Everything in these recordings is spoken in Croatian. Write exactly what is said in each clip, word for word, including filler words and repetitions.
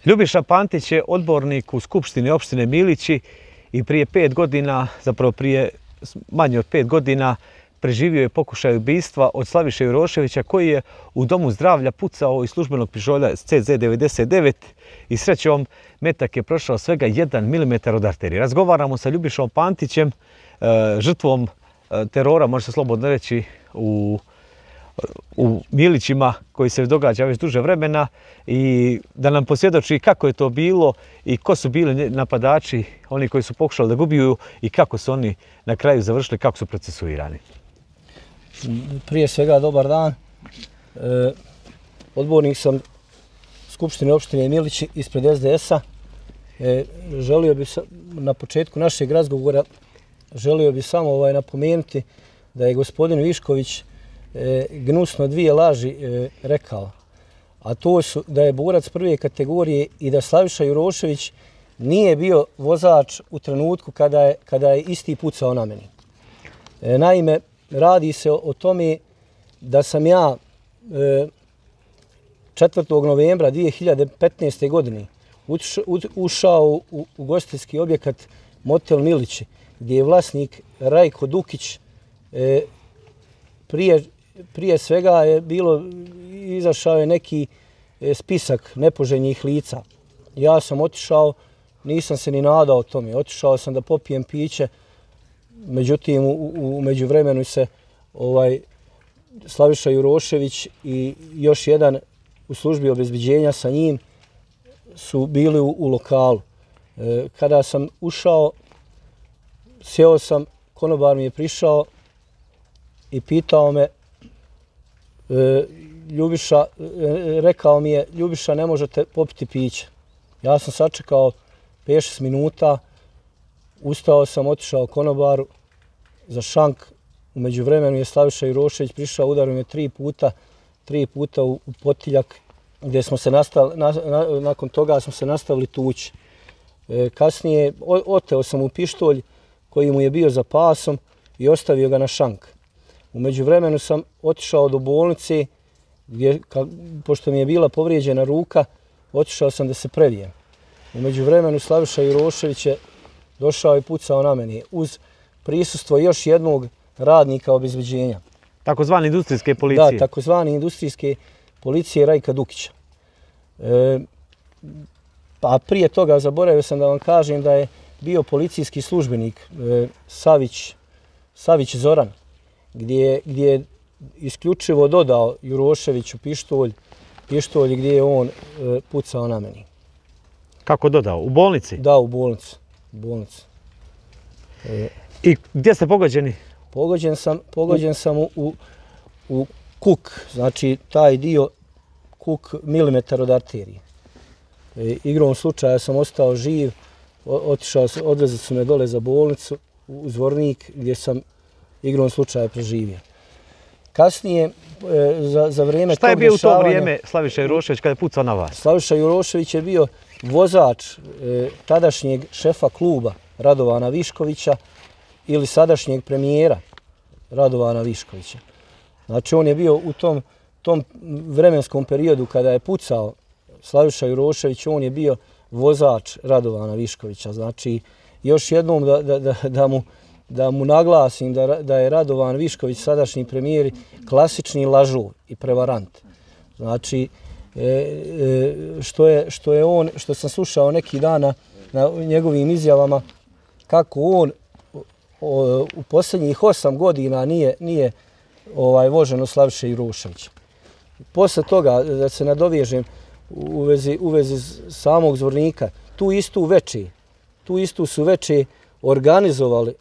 Ljubiša Pantić je odbornik u Skupštini opštine Milići i prije pet godina, zapravo prije manje od pet godina, preživio je pokušaj ubistva od Slaviše Juroševića koji je u domu zdravlja pucao iz službenog pištolja C Z devedeset devet i srećom metak je prošao svega jedan milimetar od arterije. Razgovaramo sa Ljubišom Pantićem, žrtvom terora, može se slobodno reći, u u Milićima koji se događa već duže vremena i da nam posvjedoči kako je to bilo i ko su bili napadači, oni koji su pokušali da ga ubiju i kako su oni na kraju završili, kako su procesuirani. Prije svega dobar dan. E, odbornik sam Skupštine opštine Milići ispred S D S-a. E, želio bih na početku našeg razgovora želio bih samo ovaj, napomenuti da je gospodin Višković E, gnusno dvije laži e, rekao, a to su da je borac prve kategorije i da Slaviša Jurošević nije bio vozač u trenutku kada je, kada je isti pucao na meni. E, naime, radi se o, o tome da sam ja e, četvrtog novembra dvije hiljade petnaeste. godine uš, u, ušao u ugostiteljski objekat Motel Milići, gdje je vlasnik Rajko Dukić. e, Prije, prije svega je bilo, izašao je neki spisak nepoželjnih lica. Ja sam otišao, nisam se ni nadao tome. Otišao sam da popijem piće, međutim u, u međuvremenu se ovaj, Slaviša Jurošević i još jedan u službi obezbeđenja sa njim su bili u, u lokalu. E, kada sam ušao, sjeo sam, konobar mi je prišao i pitao me, e, Ljubiša, e, rekao mi je, Ljubiša, ne možete popiti piće. Ja sam sačekao pet šest minuta, ustao sam, otišao konobaru za šank. U međuvremenu je Slaviša Jurošević prišao, udario me tri puta, tri puta u, u potiljak, gdje smo se nastavili, na, na, nakon toga smo se nastavili tući. E, kasnije o, oteo sam mu pištolj koji mu je bio za pasom i ostavio ga na šank. U međuvremenu sam otišao do bolnice, gdje, ka, pošto mi je bila povrijeđena ruka, otišao sam da se previjem. U međuvremenu Slaviša Jurošević je došao i pucao na meni uz prisustvo još jednog radnika obezbeđenja. Takozvane industrijske policije. Da, takozvane industrijske policije Rajka Dukića. E, pa prije toga zaboravio sam da vam kažem da je bio policijski službenik e, Savić, Savić Zoran, gdje, gdje je isključivo dodao Juroševiću pištolj, pištolj gdje je on e, pucao na meni. Kako dodao? U bolnici? Da, u bolnici. U bolnici. E, I gdje ste pogođeni? Pogođen sam, pogođen sam u, u, u kuk, znači taj dio kuk milimetar od arterije. E, igrom slučaja sam ostao živ, o, otišao, odvezli su me dole za bolnicu u Zvornik, gdje sam igrom slučaja preživio. Kasnije, e, za, za vrijeme Šta je tog bio u to dešavanja, vrijeme Slaviša Jurošević kada je pucao na vas? Slaviša Jurošević je bio vozač e, tadašnjeg šefa kluba Radovana Viškovića ili sadašnjeg premijera Radovana Viškovića. Znači on je bio u tom, tom vremenskom periodu kada je pucao Slaviša Jurošević, on je bio vozač Radovana Viškovića. Znači još jednom da, da, da, da mu da mu naglasim da, da je Radovan Višković, sadašnji premijer, klasični lažov i prevarant. Znači, e, e, što, je, što je on, što sam slušao neki dana na njegovim izjavama, kako on o, u posljednjih osam godina nije, nije ovaj, vožen od Slaviše Juroševića. Posle toga, da se nadovežem u vezi, u vezi samog Zvornika, tu istu veče, tu istu su veče organizovali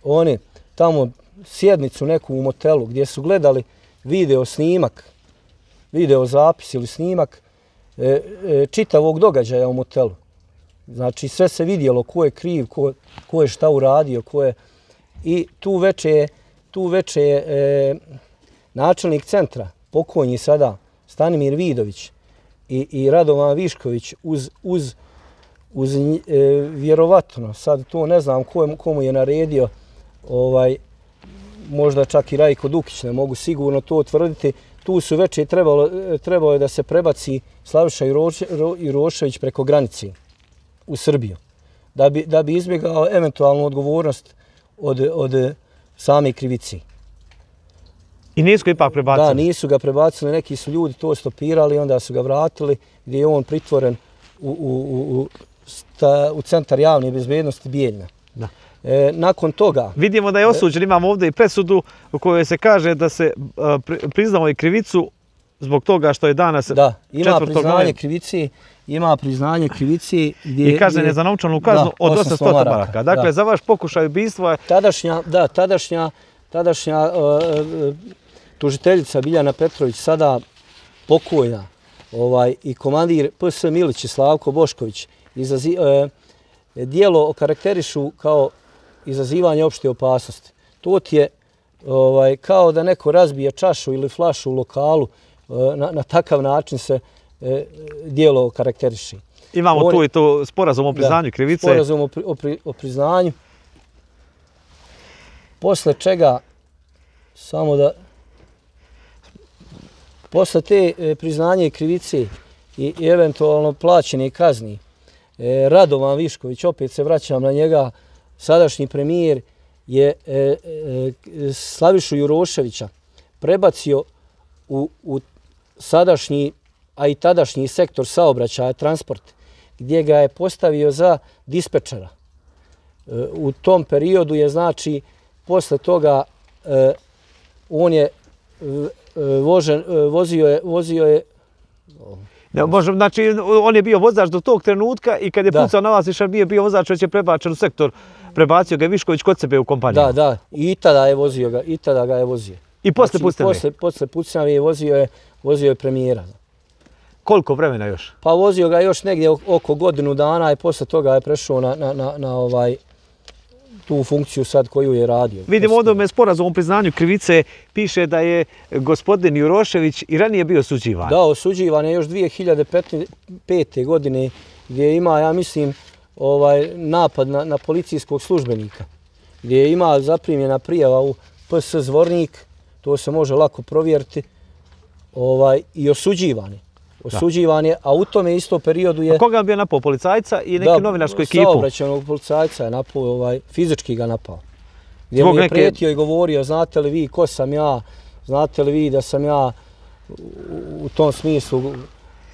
oni tamo sjednicu neku u motelu gdje su gledali video snimak, video zapis ili snimak e, e, čitavog događaja u motelu. Znači sve se vidjelo ko je kriv, ko, ko je šta uradio, ko je... I tu veče je, tu veče je e, načelnik centra, pokojni sada, Stanimir Vidović i, i Radovan Višković uz, uz, uz e, vjerovatno, sad to ne znam ko je, komu je naredio, ovaj, možda čak i Rajko Dukić, ne mogu sigurno to tvrditi, tu su već i trebalo, trebalo je da se prebaci Slaviša Jurošević preko granice u Srbiju, da bi, da bi izbjegao eventualnu odgovornost od, od same krivice. I nisu ga ipak prebacili? Da, nisu ga prebacili, neki su ljudi to stopirali, onda su ga vratili, gdje je on pritvoren u, u, u, sta, u centar javne bezbednosti Bijeljna. Da. E, nakon toga... Vidimo da je osuđen, imamo ovdje i presudu u kojoj se kaže da se a, priznao i krivicu zbog toga što je danas Da, ima priznanje novembra. krivici, ima priznanje krivici gdje... I kažnjen je za novčanu kaznu da, od osamsto maraka. Dakle, da. za vaš pokušaj ubistva je... Tadašnja, da, tadašnja, tadašnja uh, tužiteljica Biljana Petrović, sada pokojna, ovaj, i komandir P S Milić Slavko Bošković, izazi, uh, dijelo okarakterišu kao izazivanje opšte opasnosti. To ti je ovaj, kao da neko razbije čašu ili flašu u lokalu, na, na takav način se e, dijelo okarakteriši. Imamo On, tu i to sporazum o priznanju da, krivice. Sporazum o, pri, o, pri, o priznanju. Posle čega, samo da... Posle te e, priznanje krivice i, i eventualno plaćene kazni, e, Radovan Višković, opet se vraćam na njega, sadašnji premijer, je e, e, Slavišu Juroševića prebacio u, u sadašnji, a i tadašnji sektor saobraćaja, transport, gdje ga je postavio za dispečera. E, u tom periodu je, znači, posle toga e, on je, e, vožen, e, vozio je, vozio je Ne, može, znači, on je bio vozač do tog trenutka i kad je da. pucao na vas, više nije bio vozač, već je prebačen u sektor. Prebacio ga je Višković kod sebe u kompaniju. Da, da, i tada je vozio ga, i tada ga je vozio. I posle znači, pucnjave? Posle, posle pucnjave je vozio je, vozio je premijera. Koliko vremena još? Pa vozio ga još negdje oko godinu dana i posle toga je prešao na, na, na, na ovaj, tu funkciju sad koju je radio. Vidimo ovdje u sporazumu o priznanju krivice piše da je gospodin Jurošević i ranije bio osuđivan. Da, osuđivan je još dvije hiljade pete. godine gdje ima, ja mislim, ovaj napad na, na policijskog službenika. Gdje ima zaprimljena prijava u P S Zvornik, to se može lako provjeriti, ovaj, i osuđivan je. Osuđivan je, a u tome isto periodu je... A koga je bio napao, policajca i neku novinarsku ekipu? Da, saobraćajnog policajca je napao, ovaj, fizički ga napao. Gdje Zbog mu je neke... prijetio i govorio, znate li vi ko sam ja, znate li vi da sam ja u tom smislu,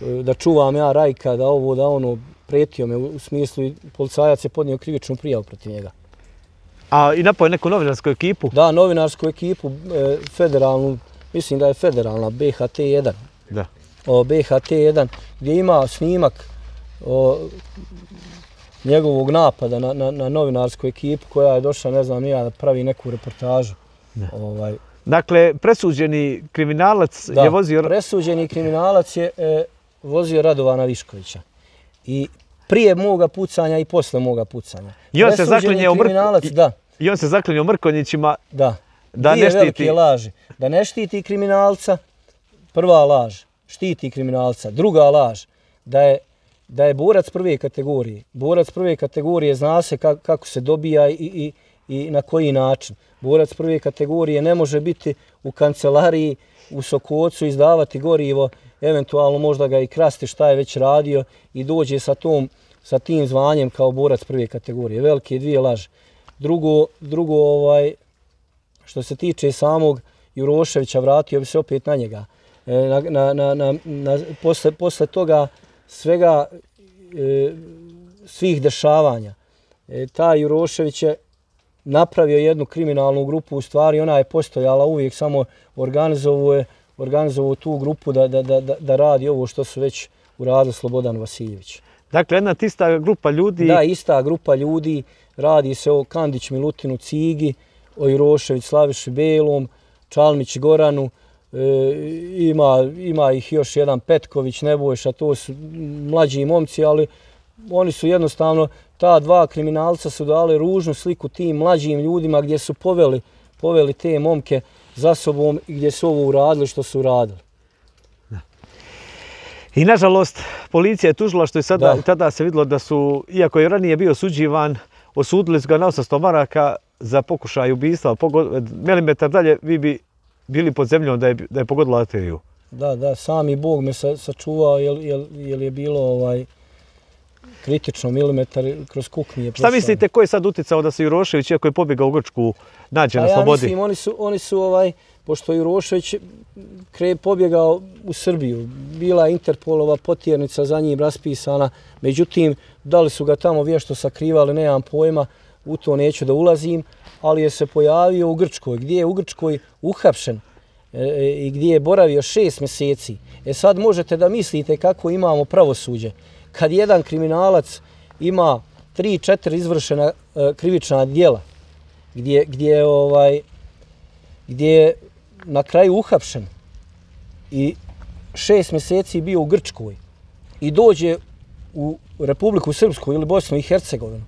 da čuvam ja Rajka, da ovo, da ono, prijetio me u smislu i policajac je podnio krivičnu prijavu protiv njega. A i napao je neku novinarsku ekipu? Da, novinarsku ekipu, e, federalnu, mislim da je federalna, B H T jedan. Da. O, B H T jedan, gdje ima snimak o, njegovog napada na, na, na novinarsku ekipu koja je došla, ne znam, ja da pravi neku reportažu. Ovaj. Dakle, presuđeni kriminalac da, je vozio... presuđeni kriminalac je e, vozio Radovana Viškovića. I prije moga pucanja i posle moga pucanja. I on se zaklinje kriminalac, mrk... da. I on se zaklinje Mrkonjićima da, da Dvije ne štiti... velike laži. Da ne štiti kriminalca, prva laž, štiti kriminalca. Druga laž, da je, da je borac prve kategorije. Borac prve kategorije zna se kako, kako se dobija i, i, i na koji način. Borac prve kategorije ne može biti u kancelariji, u Sokocu, izdavati gorivo, eventualno možda ga i krasti šta je već radio i dođe sa, tom, sa tim zvanjem kao borac prve kategorije. Velike dvije laži. Drugo, drugo ovaj, što se tiče samog Juroševića, vratio bi se opet na njega. Na, na, na, na, na, posle, posle toga svega, e, svih dešavanja, e, taj Jurošević je napravio jednu kriminalnu grupu, u stvari ona je postojala uvijek, samo organizovao, organizovao tu grupu da, da, da, da radi ovo što su već uradili Slobodan Vasiljević. Dakle, jedna ista grupa ljudi... Da, ista grupa ljudi, radi se o Kandić Milutinu Cigi, o Jurošević Slaviši Belom, Čalmić Goranu, e, ima, ima ih još jedan Petković, Nebojša, to su mlađi momci, ali oni su jednostavno, ta dva kriminalca su dali ružnu sliku tim mlađim ljudima gdje su poveli, poveli te momke za sobom i gdje su ovo uradili što su uradili. I nažalost, policija je tužila što je sada, da. tada se vidjelo da su, iako je ranije bio osuđivan, osudili su ga na osamsto maraka za pokušaj ubistva. Milimetar dalje vi bi bili pod zemljom da je, da je pogodila arteriju. Da, da, sami Bog me sa, sačuvao jer, jer, jer je bilo ovaj, kritično milimetar kroz kuk mi je prošlo. Šta mislite, ko je sad uticao da se Jurošević, iako je pobjegao u Grčku, nađe na ja slobodi? Mislim, oni su, oni su ovaj, pošto je Jurošević kre pobjegao u Srbiju, bila je Interpolova potjernica za njim raspisana, međutim, da li su ga tamo vješto sakrivali, nemam pojma, u to neću da ulazim, ali je se pojavio u Grčkoj, gdje je u Grčkoj uhapšen e, i gdje je boravio šest mjeseci. E sad možete da mislite kako imamo pravosuđe. Kad jedan kriminalac ima tri, četiri izvršena e, krivična djela, gdje, gdje, ovaj, gdje je na kraju uhapšen i šest mjeseci bio u Grčkoj i dođe u Republiku Srpsku ili Bosnu i Hercegovinu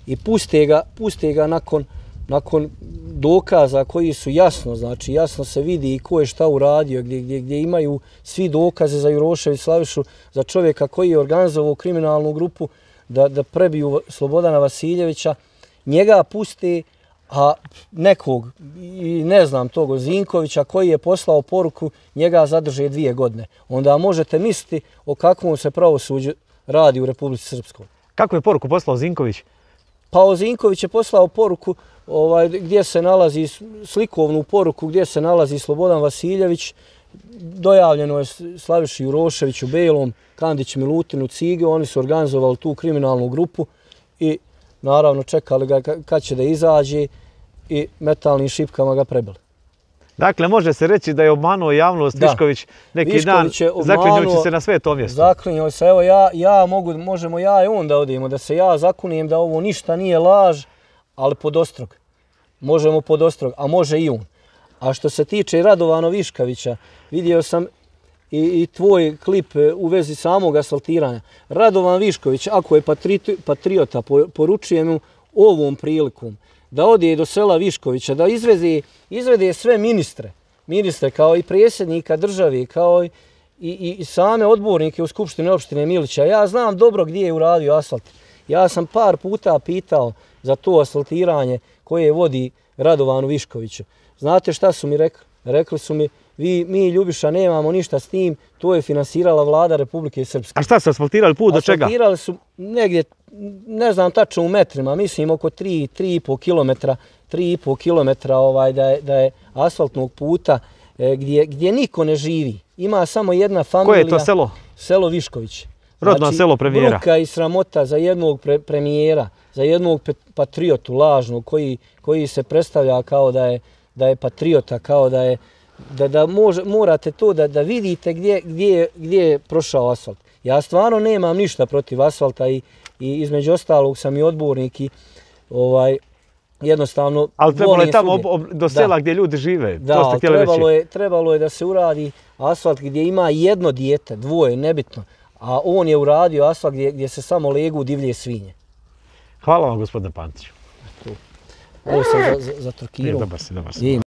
i puste ga, puste ga nakon, nakon dokaza koji su jasno, znači jasno se vidi i ko je šta uradio, gdje, gdje, gdje imaju svi dokaze za Jurošević Slavišu, za čovjeka koji je organizovao kriminalnu grupu da, da prebiju Slobodana Vasiljevića, njega puste, a nekog, i ne znam tog Zinkovića koji je poslao poruku, njega zadrže dvije godine. Onda možete misliti o kakvom se pravosuđu radi u Republici Srpskoj. Kako je poruku poslao Zinković? Pa Zinković je poslao poruku ovaj, gdje se nalazi, slikovnu poruku gdje se nalazi Slobodan Vasiljević, dojavljeno je Slaviši Juroševiću, Belom, Kandić Milutinu, Cige, oni su organizovali tu kriminalnu grupu i naravno čekali ga kad će da izađe i metalnim šipkama ga prebili. Dakle, može se reći da je obmanuo javnost da. Višković neki Višković dan, zaklinjući se na sveto mjesto. Zaklinjao se, evo ja, ja mogu, možemo ja i on da odemo, da se ja zakunijem da ovo ništa nije laž, ali pod ostrog. Možemo pod ostrog, a može i on. A što se tiče Radovana Viškovića, vidio sam i, i tvoj klip u vezi samog asfaltiranja. Radovan Višković, ako je patriota, poručujem mu ovom prilikom da ode do sela Viškovića, da izvede, izvede sve ministre, ministre kao i predsjednika države, kao i, i, i same odbornike u Skupštini opštine Milića. Ja znam dobro gdje je uradio asfalt. Ja sam par puta pitao za to asfaltiranje koje vodi Radovanu Viškoviću. Znate šta su mi rekli? Rekli su mi, vi, mi Ljubiša nemamo ništa s tim, to je finansirala vlada Republike Srpske. A šta su asfaltirali, put do čega? Asfaltirali su negdje, ne znam tačno u metrima, mislim oko tri, tri i po kilometra, tri i po kilometra ovaj, da, je, da je asfaltnog puta e, gdje, gdje niko ne živi. Ima samo jedna familija. Koje je to selo? Selo Višković. Rodno znači, selo premijera. Bruka i sramota za jednog pre, premijera, za jednog patriotu lažnog koji, koji se predstavlja kao da je, da je patriota, kao da je da, da može, morate to da, da vidite gdje, gdje, gdje je prošao asfalt. Ja stvarno nemam ništa protiv asfalta i, i između ostalog sam i odbornik i ovaj, jednostavno... Ali trebalo je tamo ob, ob, do sela da. Gdje ljudi žive, da, to ste htjeli trebalo reći. Je, trebalo je da se uradi asfalt gdje ima jedno dijete, dvoje, nebitno, a on je uradio asfalt gdje, gdje se samo legu divlje svinje. Hvala vam, gospodine Pantiću. Ovo sam za, za, za Turkiru. Dobar si, dobar si.